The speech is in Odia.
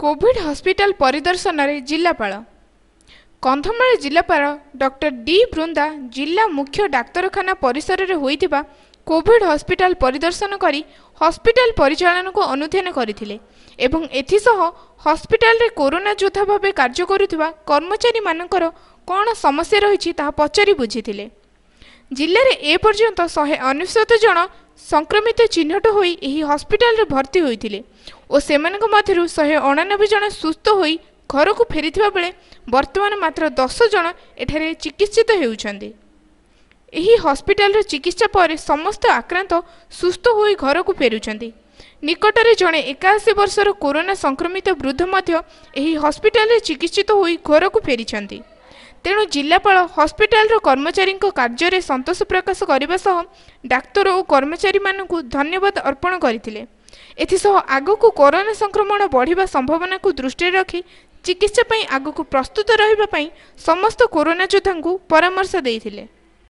କୋଭିଡ୍ ହସ୍ପିଟାଲ ପରିଦର୍ଶନରେ ଜିଲ୍ଲାପାଳ। କନ୍ଧମାଳ ଜିଲ୍ଲାପାଳ ଡକ୍ଟର ଡି ବୃନ୍ଦା ଜିଲ୍ଲା ମୁଖ୍ୟ ଡାକ୍ତରଖାନା ପରିସରରେ ହୋଇଥିବା କୋଭିଡ୍ ହସ୍ପିଟାଲ ପରିଦର୍ଶନ କରି ହସ୍ପିଟାଲ ପରିଚାଳନାକୁ ଅନୁଧ୍ୟାନ କରିଥିଲେ ଏବଂ ଏଥିସହ ହସ୍ପିଟାଲରେ କରୋନା ଯୋଦ୍ଧା ଭାବେ କାର୍ଯ୍ୟ କରୁଥିବା କର୍ମଚାରୀମାନଙ୍କର କ'ଣ ସମସ୍ୟା ରହିଛି, ତାହା ପଚାରି ବୁଝିଥିଲେ। ଜିଲ୍ଲାରେ ଏପର୍ଯ୍ୟନ୍ତ 199 ଜଣ ସଂକ୍ରମିତ ଚିହ୍ନଟ ହୋଇ ଏହି ହସ୍ପିଟାଲରେ ଭର୍ତ୍ତି ହୋଇଥିଲେ ଓ ସେମାନଙ୍କ ମଧ୍ୟରୁ 189 ଜଣ ସୁସ୍ଥ ହୋଇ ଘରକୁ ଫେରିଥିବା ବେଳେ ବର୍ତ୍ତମାନ ମାତ୍ର 10 ଜଣ ଏଠାରେ ଚିକିତ୍ସିତ ହେଉଛନ୍ତି। ଏହି ହସ୍ପିଟାଲର ଚିକିତ୍ସା ପରେ ସମସ୍ତ ଆକ୍ରାନ୍ତ ସୁସ୍ଥ ହୋଇ ଘରକୁ ଫେରୁଛନ୍ତି। ନିକଟରେ ଜଣେ 81 ବର୍ଷର କରୋନା ସଂକ୍ରମିତ ବୃଦ୍ଧ ମଧ୍ୟ ଏହି ହସ୍ପିଟାଲରେ ଚିକିତ୍ସିତ ହୋଇ ଘରକୁ ଫେରିଛନ୍ତି। ତେଣୁ ଜିଲ୍ଲାପାଳ ହସ୍ପିଟାଲର କର୍ମଚାରୀଙ୍କ କାର୍ଯ୍ୟରେ ସନ୍ତୋଷ ପ୍ରକାଶ କରିବା ସହ ଡାକ୍ତର ଓ କର୍ମଚାରୀମାନଙ୍କୁ ଧନ୍ୟବାଦ ଅର୍ପଣ କରିଥିଲେ। ଏଥିସହ ଆଗକୁ କରୋନା ସଂକ୍ରମଣ ବଢ଼ିବା ସମ୍ଭାବନାକୁ ଦୃଷ୍ଟିରେ ରଖି ଚିକିତ୍ସା ପାଇଁ ଆଗକୁ ପ୍ରସ୍ତୁତ ରହିବା ପାଇଁ ସମସ୍ତ କରୋନା ଯୋଦ୍ଧାଙ୍କୁ ପରାମର୍ଶ ଦେଇଥିଲେ।